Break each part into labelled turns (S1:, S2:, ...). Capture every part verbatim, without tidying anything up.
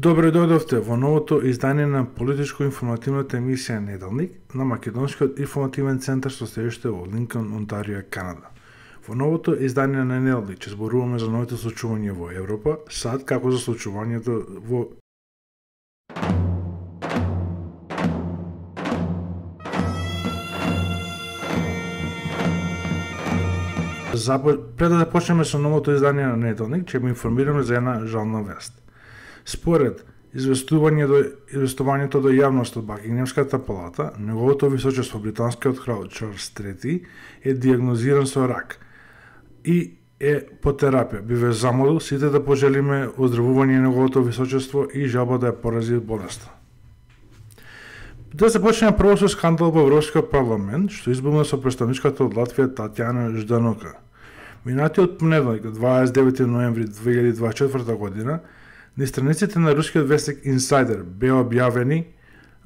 S1: Добро дојдовте во новото издание на политичко-информативната емисија Неделник на Македонскиот информативен центар со седиште во Линкон, Онтарио, Канада. Во новото издание на Неделник ќе зборуваме за новите случувања во Европа, сад како за случувањето во Запо... Пред да започнеме со новото издание на Неделник, ќе ви информираме за една жална вест. Според известувањето, известувањето до јавност од Бакингемската палата, неговото височество британскиот крал Чарлс трети е диагнозиран со рак и е по терапија. Би ве замолил сите да пожелиме оздравување на неговото височество и жалба да ја порази болеста. Да започнеме прво со скандал во Европскиот парламент, што избугна со представничката од Латвија Татјана Жданока. Минатиот понеделник, дваесет и девети ноември две илјади дваесет и четврта година, на страниците на рускиот вестник Insider беа објавени,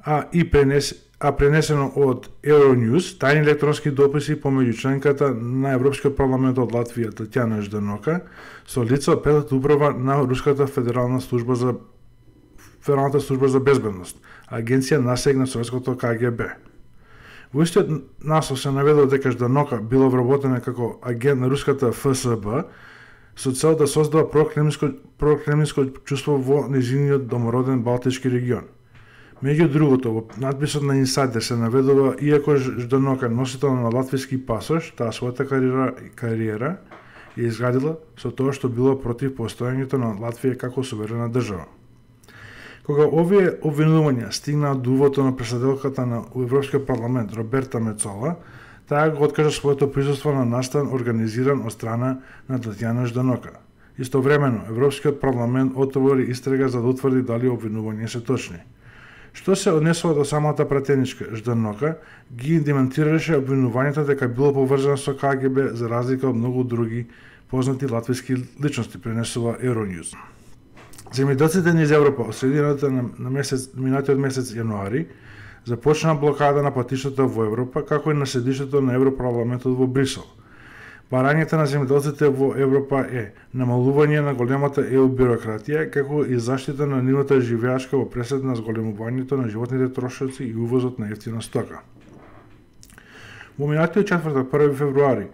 S1: а и пренес, а пренесено од Euronews, тајни електронски дописи помеѓу членката на Европскиот парламент од Латвија Татјана Жданока со лице од петата управа на Руската федерална служба за Федералната служба за безбедност, агенција насег на Советското К Г Б. Во истиот наслов се наведува дека Жданока била вработена како агент на руската Ф С Б со цел да создава прокремлинско прокремлинско чувство во незиниот домороден Балтички регион. Меѓу другото, во надписот на Insider се наведува, иако Жданока носител на латвиски пасош, таа својата кариера, кариера ја изградила со тоа што била против постојањето на Латвија како суверена држава. Кога овие обвинувања стигнаа до увото на председателката на Европскиот парламент Роберта Мецола, таа го откажа своето присуство на настан организиран од страна на Татјана Жданока. Истовремено, Европскиот парламент отвори истрага за да утврди дали обвинувања се точни. Што се однесува до самата пратеничка, Жданока ги демонтираше обвинувањата дека било поврзано со К Г Б за разлика од многу други познати латвиски личности, пренесува Euronews. Земјоделците низ Европа од средината на, на месец, минатиот месец јануари започна блокада на патиштата во Европа, како и на седиштето на Европарламентот во Брисел. Барањето на земјоделците во Европа е намалување на големата Е У бюрократија, како и заштита на нивната живеачка во пресед на зголемувањето на животните трошоци и увозот на ефтина стока. Во минатиот четвртак, први февруари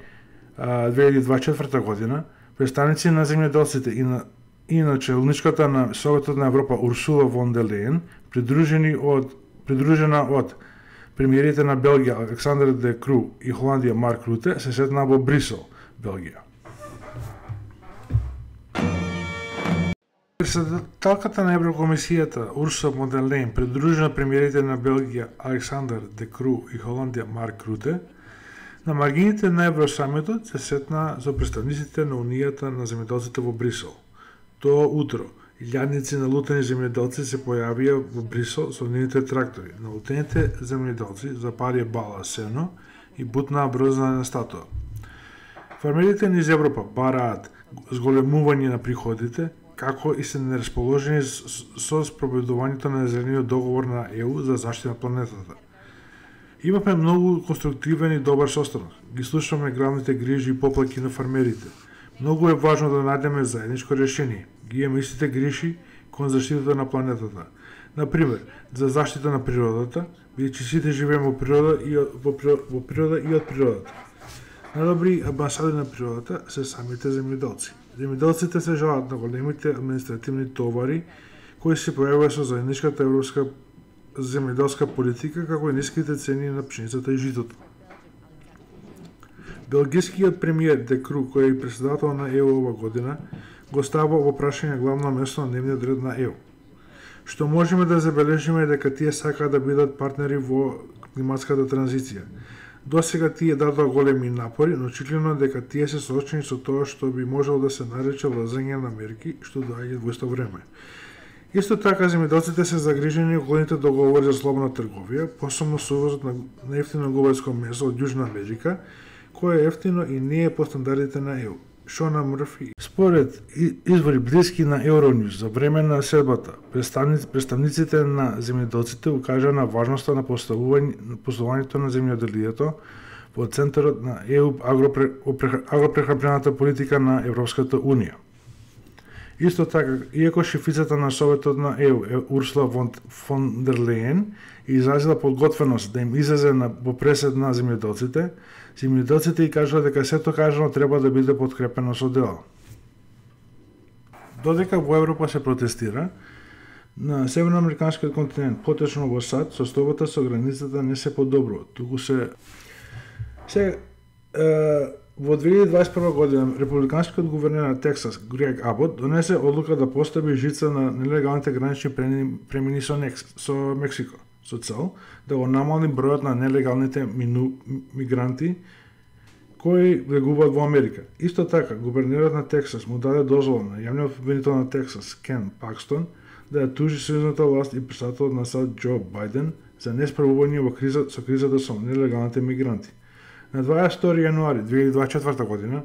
S1: две илјади дваесет и четврта година, представници на земјоделците и на и на челничката на Советот на Европа Урсула фон дер Лејен, придружени од придружена од премиерите на Белгија Александер Де Кру и Холандија Марк Руте, се сретнаа во Брисел, Белгија. Председателката на Еврокомисијата Урсула фон дер Лејен, придружена премиерите на Белгија Александер Де Кру и Холандија Марк Руте, на маргините на Евросамитот се сретнаа со представниците на Унијата на земјоделците во Брисел. Тоа утро, илјадници налутени земјоделци се појавија во Брисел со нивните трактори. Налутените земјоделци запарија бала сено и бутнаа брзана статуа. Фермерите низ Европа бараат зголемување на приходите, како и се нерасположени со спроведувањето на зелениот договор на Е У за заштита на планетата. Имавме многу конструктивен и добар состанок. Ги слушаме главните грижи и поплаки на фермерите. Многу е важно да најдеме заедничко решение. Ги имаме истите грижи кон заштитата на планетата. Например, за заштита на природата, бидејќи сите живееме во природа и во, во природа и од природата. Најдобри амбасадори на природата се самите земјоделци. Земјоделците се жалат на големите административни товари кои се појавува со заедничката европска земјоделска политика, како и ниските цени на пшеницата и житото. Белгискиот премиер Де Кру, кој е председател на Е У ова година, го става во прашање главно место на дневниот ред на Е У. Што можеме да забележиме е дека тие сакаат да бидат партнери во климатската транзиција. Досега тие дадоа големи напори, но очигледно дека тие се соочени со тоа што би можело да се нарече лазење на мерки, што доаѓаат во исто време. Исто така, земјоделците се загрижени околните договори за слободна трговија, посебно со увозот на ефтино говедско месо од Јужна Америка, кој е ефтино и не е по стандардите на Е У. Шона Мрфи. Според извори блиски на Euronews за време на седбата, представниците на земјоделците укажаа на важноста на поставувањето на земјоделието во центарот на Е У агропрехранбената политика на Европската Унија. Исто така, иако шефицата на Советот на Е У, Урсула фон дер Лејен, изразила подготвеност да им излезе на по пресед на земјоделците, земјоделците и кажува дека сето кажано треба да биде подкрепено со дела. Додека во Европа се протестира, на северноамериканскиот континент, поточно во САД, состојбата со границата не се подобрува, туку се се е, во две илјади дваесет и прва година републиканскиот гувернер на Тексас Грег Абот донесе одлука да постави жица на нелегалните гранични премини со, Некс, со Мексико, со цел да го намали бројот на нелегалните мину, мигранти кои влегуваат во Америка. Исто така, гувернерот на Тексас му даде дозвола на јавниот обвинител на Тексас Кен Пакстон да ја тужи сојузната власт и претседателот на САД Џо Бајден за несправување во криза со кризата со нелегалните мигранти. На дваесет и втори јануари две илјади дваесет и четврта година,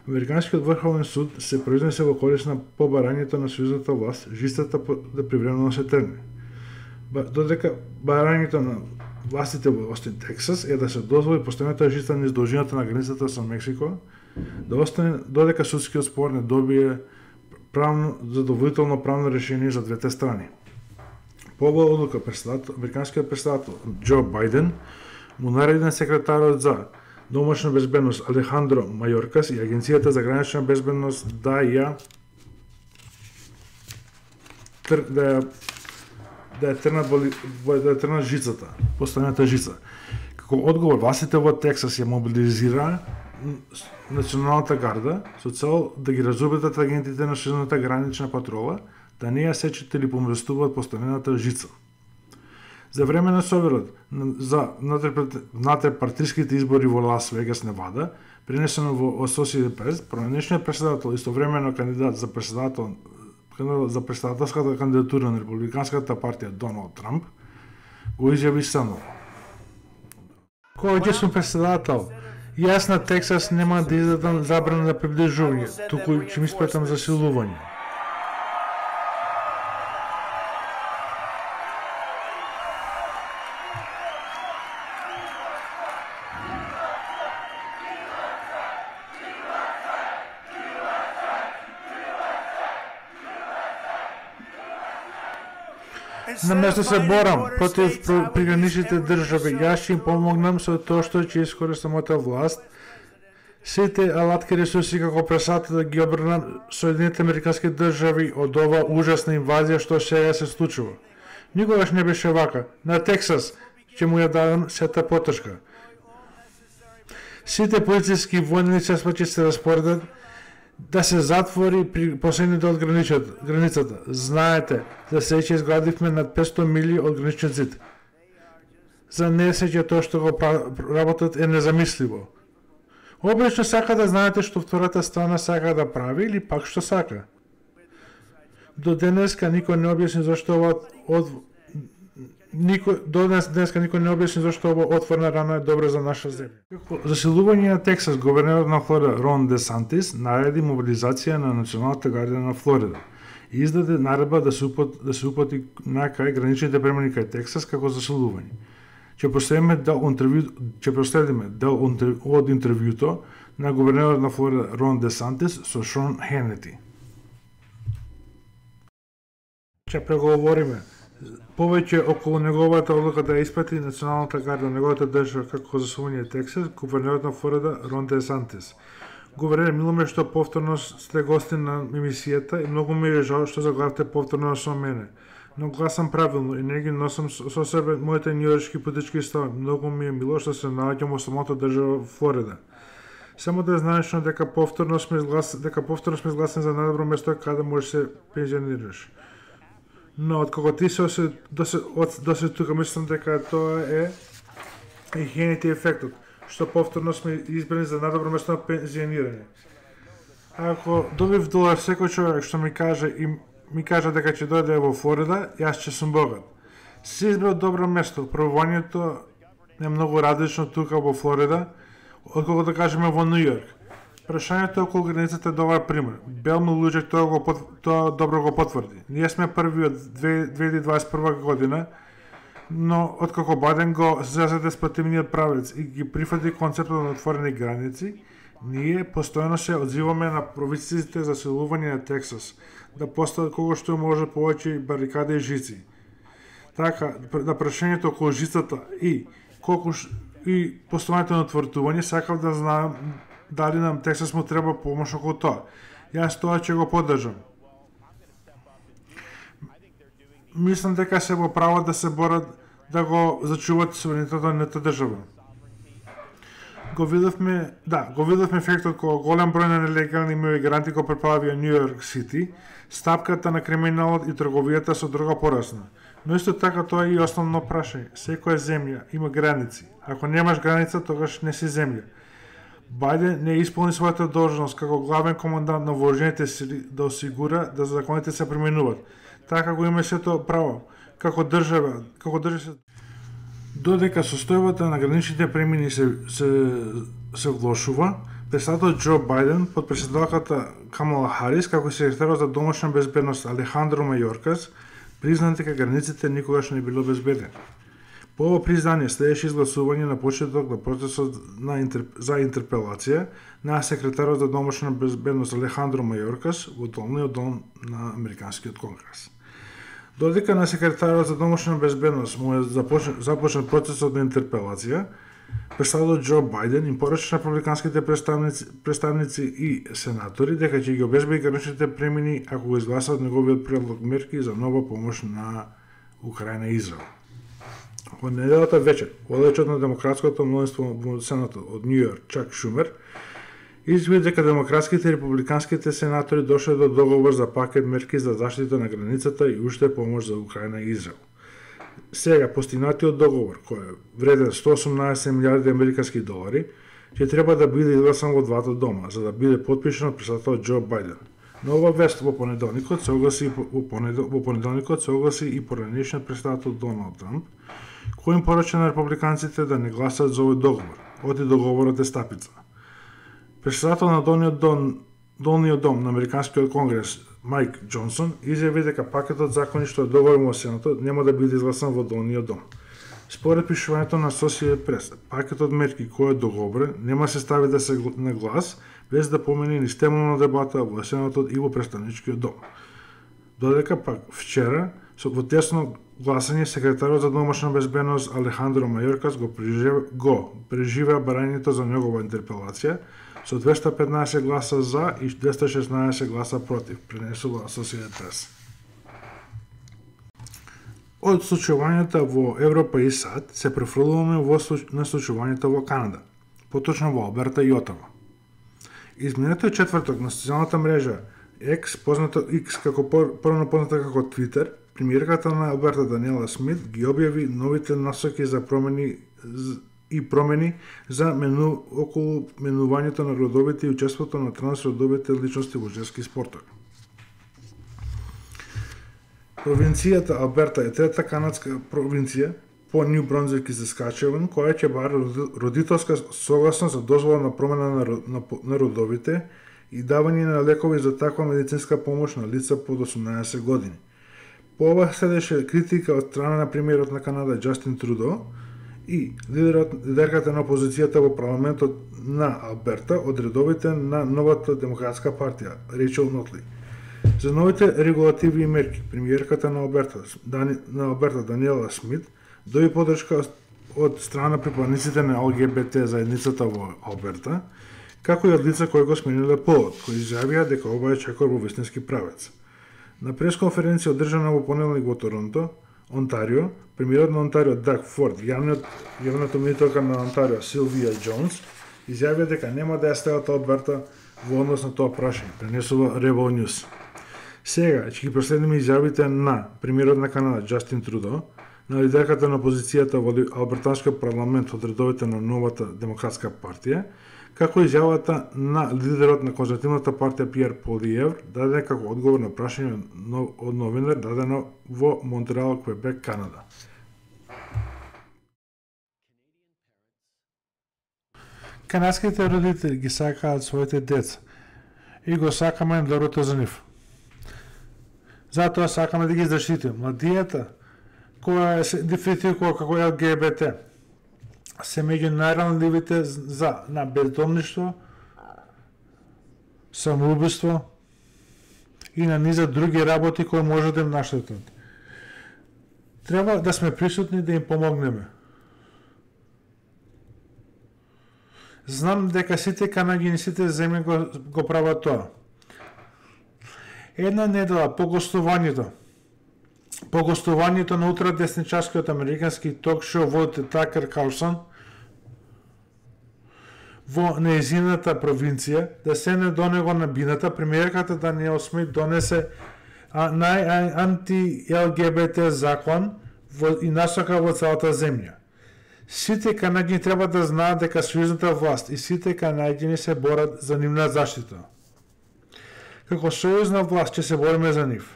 S1: Американскиот врховен суд се произнесе во корис на побарањето на сојузната власт жицата да привремено се тргне. Додека барањето на властите во Остин, Тексас е да се дозволи постојаната жица низ должината на границата со Мексико, да остане додека судскиот спор не добие правно задоволително правно решение за двете страни. По оваа одлука американскиот претседател Џо Бајден му нареди на секретарот за домашна безбедност Алехандро Мајоркас и Агенцијата за гранична безбедност да ја да ја да ја трнат да ја трнат жицата, постојаната жица. Како одговор, властите во Тексас ја мобилизираа националната гарда со цел да ги разубедат агентите на сојузната гранична патрола да не ја сечат или поместуваат постојаната жица. За време на соверот за внатре-партиските избори во Лас Вегас, Невада, пренесено во Associated Press, пронешниот претседател, истовремено кандидат за претседател за претседателската кандидатура на републиканската партија Доналд Трамп, го изјави станово. Кој сум претседател, јас на Тексас нема да издадам забрана на приближување, туку ќе ми испратам засилување. Наместо се борам против приграничните држави, јас ќе им помогнам со тоа што ќе искористам мојата власт. Сите алатки ресурси како пресата да ги обрнам Соединетите американски држави од ова ужасна инвазија што сега се случува. Никогаш не беше вака. На Тексас ќе му ја дадам сета потешка. Сите полициски војни средства ќе се распоредат да се затвори при последните од границата. Знаете, за се ќе изградивме над петсто мили од граничен зид. За не се ќе тоа што го работат е незамисливо. Обично сака да знаете што втората страна сака да прави или пак што сака. До денеска никој не објасни зашто ова од никој до днес денеска никој не објасни зашто ова отворена рана е добра за наша земја. Како засилување на Тексас, гувернерот на Флорида Рон Де Сантис нареди мобилизација на националната гардија на Флорида и издаде наредба да се упат, да се упати на кај граничните премини кај Тексас како засилување. Ќе проследиме дел интервју, ќе проследиме дел од интервјуто на гувернерот на Флорида Рон Де Сантис со Шон Хенети. Ќе преговориме повеќе околу неговата одлука да испрати националната гарда на неговата држава како засилување Тексас, гувернерот на Флорида Рон Де Сантис. Гувернер, мило ме што повторно сте гости на емисијата и многу ми е жал што заглавте повторно со мене. Но гласам правилно и не ги носам со себе моите њујоршки политички стави. Многу ми е мило што се наоѓам во самата држава Флорида. Само да знаеш дека повторно сме изглас, дека повторно сме изгласени за најдобро место каде можеш се пензионираш. Но откако ти се до се до се тука мислам дека тоа е и Хенети ефектот, што повторно сме избрани за најдобро место на пензионирање. Ако добив долар секој човек што ми каже и ми кажа дека ќе дојде во Флорида, јас ќе сум богат. Се избрал добро место. Пробувањето е многу различно тука во Флорида, отколку да кажеме во Нью Йорк. Прашањето околу границата е добар пример. Белмил Луџек тоа го тоа добро го потврди. Ние сме први од две илјади дваесет и прва година, но откако Бајден го зазеде спротивниот правец и ги прифати концептот на отворени граници, ние постојано се одзиваме на провинциите за засилување на Тексас, да постават колку што може повеќе барикади и жици. Така, на прашањето околу жицата и колку ш... и постојањето на тврдување, сакав да знам дали нам Тексас му треба помош околу тоа. Јас тоа ќе го поддржам. Мислам дека се во право да се борат да го зачуваат суверенитетот на нета држава. Го видовме, да, го видовме ефектот кога голем број на нелегални имигранти го преплавија Нью Йорк Сити, стапката на криминалот и трговијата со дрога порасна. Но исто така тоа е и основно прашање. Секоја земја има граници. Ако немаш граница, тогаш не си земја. Бајден не исполни својата должност како главен командант на вооружените сили да осигура да законите се применуваат. Така го има сето право како држава, како држава. Додека состојбата на граничните премини се се се влошува, председателот Џо Бајден, подпредседателката Камала Харис, како секретарот за домашна безбедност Алехандро Мајоркас, признаа дека границите никогаш не било безбедни. По ова признание следеше изгласување на почеток на процесот на интер... за интерпелација на секретарот за домашна безбедност Алехандро Мајоркас во долниот дом на Американскиот конгрес. Додека на секретарот за домашна безбедност му е започнат, започнат процесот на интерпелација, председателот Џо Бајден им порача на републиканските представници, представници и сенатори дека ќе ги обезбеди граничните премини ако го изгласат неговиот предлог мерки за нова помош на Украина и Израел. Во неделата вечер, водачот на демократското мнозинство во Сенатот од Нью Йорк, Чак Шумер, изјави дека демократските и републиканските сенатори дошле до договор за пакет мерки за заштита на границата и уште помош за Украина и Израел. Сега, постигнатиот договор, кој е вреден сто осумнаесет милиарди американски долари, ќе треба да биде изгласан во двата дома, за да биде потпишан од председателот Џо Бајден. Но ова вест во понеделникот се огласи во, понедел, во понеделникот се огласи и поранешниот председател Доналд Трамп, кој им порача на републиканците да не гласат за овој договор, оти договорот е стапица. Председател на долниот дом, долниот дом на Американскиот конгрес Мајк Џонсон изјави дека пакетот закони што е договорен во Сенатот нема да биде изгласан во долниот дом. Според пишувањето на Associated Press, пакетот мерки кој е договорен нема се стави да се на глас без да помени ни стемелна дебата во Сенатот и во представничкиот дом. Додека пак вчера со во тесно гласање секретарот за домашна безбедност Алехандро Мајоркас го преживеа го преживеа барањето за негова интерпелација со двесте петнаесет гласа за и двесте шеснаесет гласа против, пренесува Associated Press. Од случувањата во Европа и САД се префрлуваме во на случувањата во Канада, поточно во Алберта и Отава. Изминатиот четврток на социјалната мрежа X, позната X како порано позната како Twitter, премиерката на Алберта Даниела Смит ги објави новите насоки за промени и промени за мену околу менувањето на родовите и учеството на трансродовите личности во женски спортови. Провинцијата Алберта е трета канадска провинција по Нью Брунсвик и Саскачеван, која ќе бара родителска согласност за дозвола на промена на, на, на родовите и давање на лекови за таква медицинска помош на лица под осумнаесет години. По ова следеше критика од страна на премиерот на Канада Џастин Трудо и лидерот, лидерката на опозицијата во парламентот на Алберта од редовите на новата демократска партија, Рейчел Нотли. За новите регулативи и мерки, премиерката на Алберта, Дани, на Алберта Даниела Смит доби поддршка од страна на припадниците на Л Г Б Т заедницата во Алберта, како и од лица кои го смениле полот, кои изјавија дека ова е чекор во вистински правец. На пресконференција одржана во понеделник во Торонто, Онтарио, премиерот на Онтарио Даг Форд, јавниот јавната министерка на Онтарио Силвија Џонс, изјавија дека нема да ја стават Алберта во однос на тоа прашање, пренесува Rebel News. Сега ќе ги проследиме изјавите на премиерот на Канада Џастин Трудо, на лидерката на опозицијата во Албертанскиот парламент од редовите на новата демократска партија, како изјавата на лидерот на конзервативната партија Пиер Полиевр, дадена како одговор на прашање од новинар дадено во Монтреал, Квебек, Канада. Канадските родители ги сакаат своите деца и го сакаме доброто за нив. Затоа сакаме да ги заштитиме. Младијата која се идентификува како Л Г Б Т се меѓу најранливите за на бездомништво, самоубиство и на низа други работи кои може да им наштетат. Треба да сме присутни да им помогнеме. Знам дека сите канаѓани, сите земји го, го прават тоа. Една недела по гостувањето, по гостувањето на ултрадесничарскиот американски ток-шоу водител Такер Карлсон во нејзината провинција, да седне до него на бината, премиерката Даниел Смит донесе нај-анти-Л Г Б Т закон во, и насока во целата земја. Сите канаѓани треба да знаат дека сојузната власт и сите канаѓани се борат за нивна заштита. Како сојузна власт ќе се бориме за нив.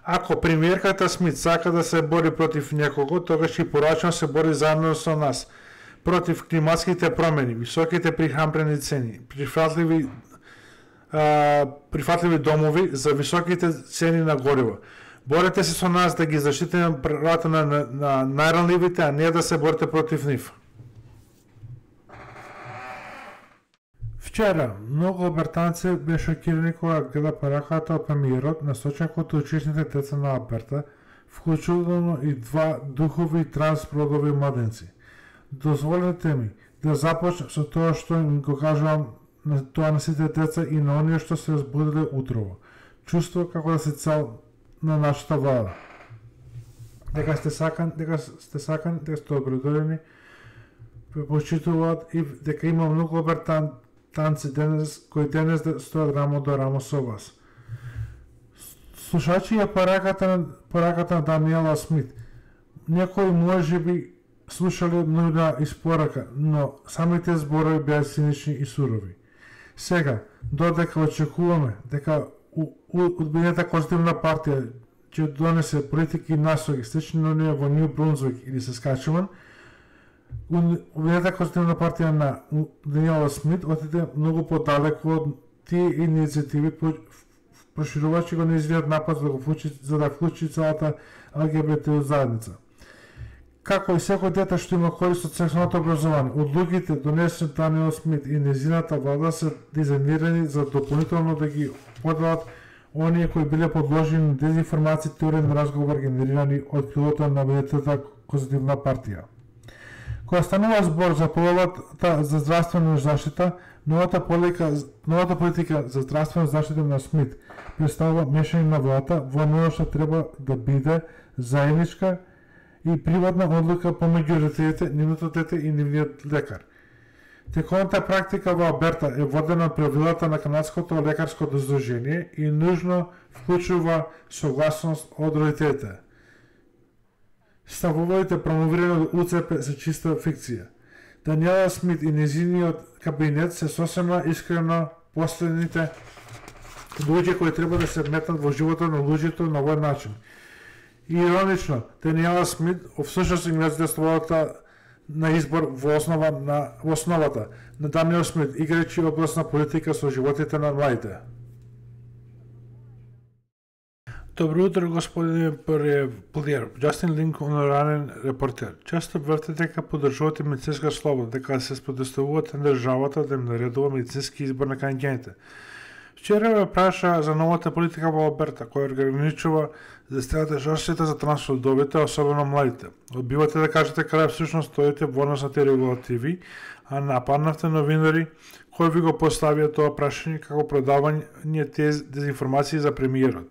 S1: Ако премиерката Смит сака да се бори против некого, тогаш и порачно се бори заедно со нас против климатските промени, високите прихрамбени цени, прифатливи а, прифатливи домови за високите цени на гориво. Борете се со нас да ги заштитиме правата на, на, на најранливите, а не да се борите против нив. Вчера, многу Албертанци бе шокирани кога гледа пораката од премиерот насочен кон учесните деца на Алберта, вклучително и два духови трансродови младенци. Дозволете ми да започнем со тоа што им го кажувам на тоа на сите деца и на оние што се разбудиле утрово. Чувство како да се цел на нашата влада. Дека сте сакан, дека сте сакан, дека сте обредорени, почитуваат и дека има многу Албертанци денес кои денес стојат рамо до рамо со вас. Слушачи ја пораката, пораката на Даниела Смит, некои може би слушале нуна испорака, но самите зборови беа цинични и сурови. Сега, додека очекуваме дека Обединета конзервативна партија ќе донесе политики и насоки слични на оние во Нью Брунсвик или Саскачеван, Обединета конзервативна партија на Даниела Смит отиде многу подалеку од тие иницијативи, проширувачи го нејзиниот напад за да го вклучи, за да вклучи целата Л Г Б Т заедница. Како и секој дете што има корист од сексуалното образование, одлуките донесени Даниел Смит и нејзината влада се дизајнирани за дополнително да ги поделат оние кои биле подложени на дезинформации, теории на разговор генерирани од крилото на Обединетата конзервативна партија. Кога станува збор за половата за здравствена заштита, новата политика, новата политика за здравствена заштита на Смит представува мешање на владата во оно што треба да биде заедничка и приватна одлука помеѓу родителите, нивното дете и нивниот лекар. Тековната практика во Алберта е водена од правилата на Канадското лекарско здружение и нужно вклучува согласност од родителите. Ставовите промовирани од У Ц П се чиста фикција. Даниела Смит и нејзиниот кабинет се сосема искрено последните луѓе кои треба да се вметнат во животот на луѓето на овој начин. И иронично, Даниела Смит всушност им раздействувата на избор во основа на во основата на Даниел Смит, играјќи областна политика со животите на младите. Добро утро, господин Полиер. Джастин Линк, оноранен репортер. Често тврдите дека поддржувате медицинска слобода, дека се спротивувате на државата да им наредува медицински избор на канаѓаните. Вчера ме праша за новата политика во Алберта, која ограничува здравствената заштита за трансродовите, особено младите. Одбивате да кажете каде всушност стоите во однос на тие регулативи, а нападнавте новинари кои ви го поставија тоа прашање како продавање тие дезинформации за премиерот.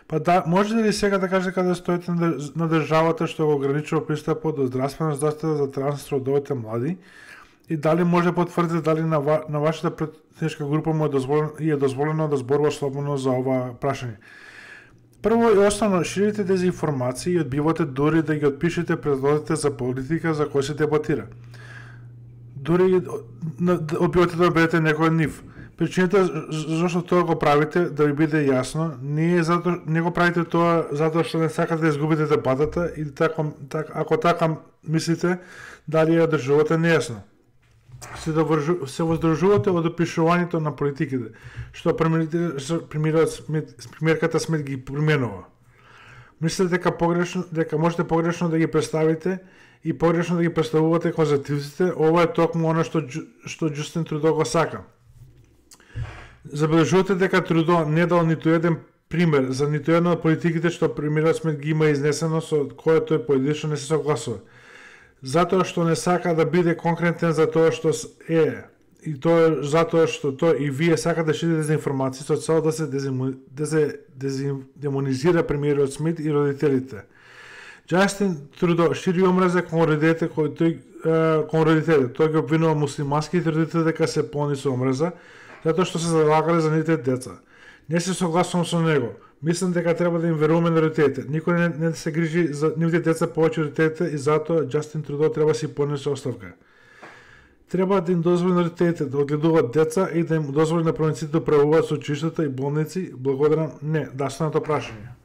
S1: Па да, можете ли сега да кажете каде стоите на државата што го ограничува пристапот до здравствена заштита за трансродовите млади? И дали може да потврдите дали на, ва, на вашата претничка група му е дозволено, е дозволено да зборува слободно за ова прашање? Прво и основно, ширите дезинформации и одбивате дури да ги отпишете предлозите за политика за кој се дебатира. Дури одбивате да обидете некој од нив. Причината зашто тоа го правите, да ви биде јасно, не е зато, не го правите тоа затоа што не сакате да изгубите дебатата или тако, так, ако така мислите, дали ја држувате нејасно. Се, довржу, се воздржувате од опишувањето на политиките, што премиерката Смит ги применува. Мислите дека погрешно, дека можете погрешно да ги представите и погрешно да ги представувате конзервативците, ова е токму она што што Џустин Трудо го сака. Забележувате дека Трудо не дал ниту еден пример за ниту една од политиките што премиерот Смит ги има изнесено со кое тој поединечно не се согласува. Затоа што не сака да биде конкретен за тоа што е, и тоа затоа што тој и вие сакате да ширите дезинформации со цел да се демонизира премиерот Смит и родителите. Џастин Трудо шири омраза кон родителите кои тој кон родителите. Тој ги обвинува муслиманските родители дека се полни со омраза, затоа што се залагале за нивните деца. Не се согласувам со него. Мислам дека треба да им веруваме на родителите. Никој не, не се грижи за нивните деца повеќе од родителите и затоа Џастин Трудо треба да си поднесе оставка. Треба да им дозволи на родителите да одгледуваат деца и да им дозволи на провинциите да управуваат со училиштата и болници. Благодарам. Не, да останато прашање.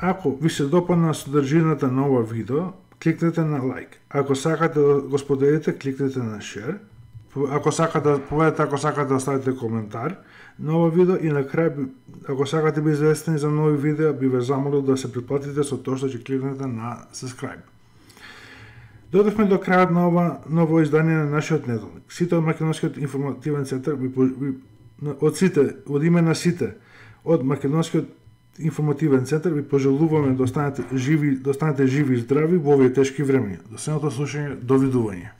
S1: Ако ви се допадна содржината на ова видео, кликнете на лайк. Ако сакате да го споделите, кликнете на шер. Ако сакате да поведете, ако сакате да оставите коментар на ова видео и на крај, ако сакате да би известени за нови видеа, би ве замолил да се претплатите со тоа што ќе кликнете на subscribe. Додовме до крајот на ова ново издание на нашиот неделник. Сите од Македонскиот информативен центар, ви, ви, од сите, од име на сите, од Македонскиот информативен центар ви пожелуваме да останете живи, да останете живи и здрави во овие тешки времиња. До следното слушање, довидување.